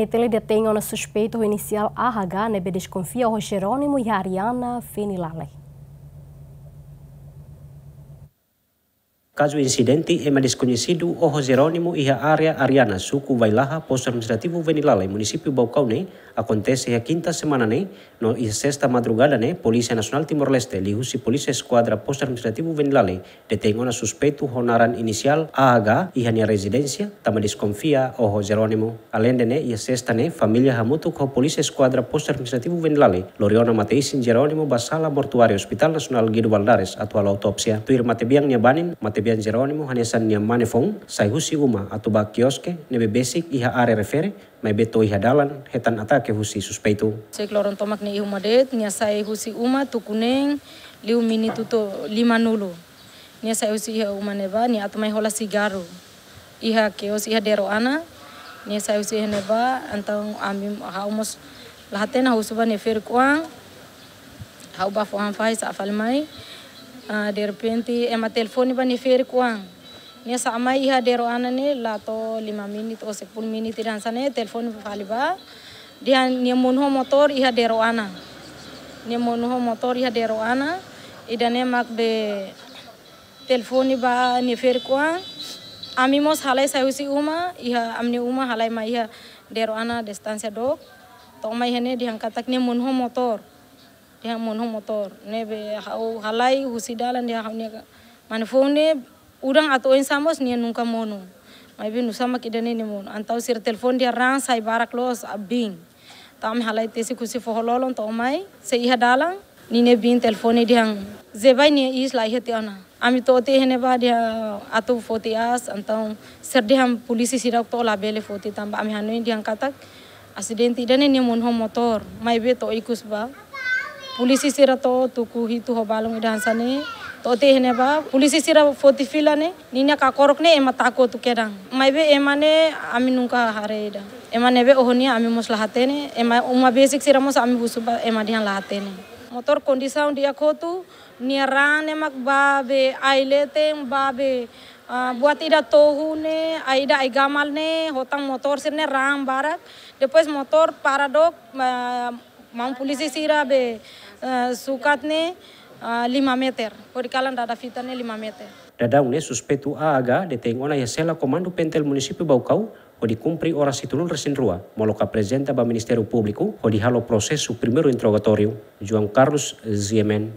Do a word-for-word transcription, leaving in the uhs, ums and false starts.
P T L detein ona suspeitu ho inisiál A H ne'ebé deskonfia oho Jerónimo iha Ariana Venilale. Kazu insidente ema deskoñesidu oho Jerónimo iha área Ariana, suku Vailaha, postu administrativu Venilale, munisípiu Baucau ne'e, akontese iha kinta semana ne'e, no iha sesta madrugada ne'e, Polísia Nasionál Timor-Leste, liuhusi Polísia Eskuadra Postu Administrativu Venilale, detein ona suspeitu ho naran inisiál A H iha nia rezidénsia, tanba deskonfia oho Jerónimo. Aleinde ne'e, iha sesta ne'e, família hamutuk ho Polísia Eskuadra Postu Administrativu Venilale lori ona mate-isin Jerónimo ba sala mortuáriu Hospital Nasionál Guido Valadares atu halo autópsia. Tuir matebian nia banin, matebian Jerónimo hanesan nia mane foun sai husi uma atu ba kioske ne'ebé besik iha área refere, maibé to'o iha dalan hetan atake husi suspeitu. Sek loron tomak nia iha uma de'it, nia sai husi uma tuku neen liu minutu to'o limanulu. Nia sai husi iha uma ne'ebá, nia atu mai hola sigarru iha kios iha Dero Ana. Nia sai husi iha ne'ebá, entaun ami, ha'u mós la hatene, ha'u husu ba nia ferik-oan, ha'u bá fó han fahi sa'e fali mai. Ah, derrepente ema telefone ba nia ferik-oan. Nia sa'e mai iha Dero Ana ne'e la to'o lima menit ou sepuluh menit ida hanesan ne'e, telefone fali ba. Dehan nia monu ho motór iha Dero Ana. Nia monu ho motór iha Dero Ana. Ida-ne'e mak be telefone ba nia ferik-oan. Ami mós halai sai husi uma, iha ami-nia uma halai mai iha Dero Ana distánsia dook. To'o mai iha ne'e dehan katak nia monu ho motór. Dehan monu ho motór. Ne'ebé ha'u halai husi dalan dehan ha'u-nia mane foun ne'e udan atu oinsá mós nia nunka monu. Maibé nusá mak ida-ne'e nia monu. Entaun sira telefone dehan raan sai barak loos, ah, biin. Entaun ami halai tesi husi foho-lolon to'o mai, sei iha dalan, ninia biin telefone dehan, Zebai nia iis la iha tiha ona. Ami to'o tiha iha ne'ebá dehan atu foti aas, entaun sira dehan polísia sira to'o labele foti tanba ami hanoin dehan katak asidente ida-ne'e nia monu ho motór, maibé to'o ikus ba. Polísia sira to'o tuku hitu ho balun ida hanesan ne'e, to'o tiha iha ne'ebá, polísia sira foti fila ne'e, ninia kakorok ne'e ema taka hotu kedan. Maibé ema ne'e ami nunka haree ida. Ema ne'ebé oho nia ami mós la hatene, ema uma besik sira mós ami husu ba ema dehan la hatene. Motór kondisaun di'ak hotu, nia raan ne'e mak ba be ai-leten, ba be, ah, buat ida tohu ne'e, ai-ida ai-gamal ne'e, hotan motór sira-ne'e raan barak. Depois motór para dook, ah, maun polísia sira be, eh, sukat ne'e, ah, lima meter. Hodi kalan dada fita ne'e lima meter. Daudaun ne'e suspeitu A H detein ona iha sela komandu P N T L munisípiu Baucau, hodi kumpre oras hitunulu resin rua, molok aprezenta ba Ministériu Públiku, hodi halo prosesu primeiru interrogatóriu. João Carlos, G M N.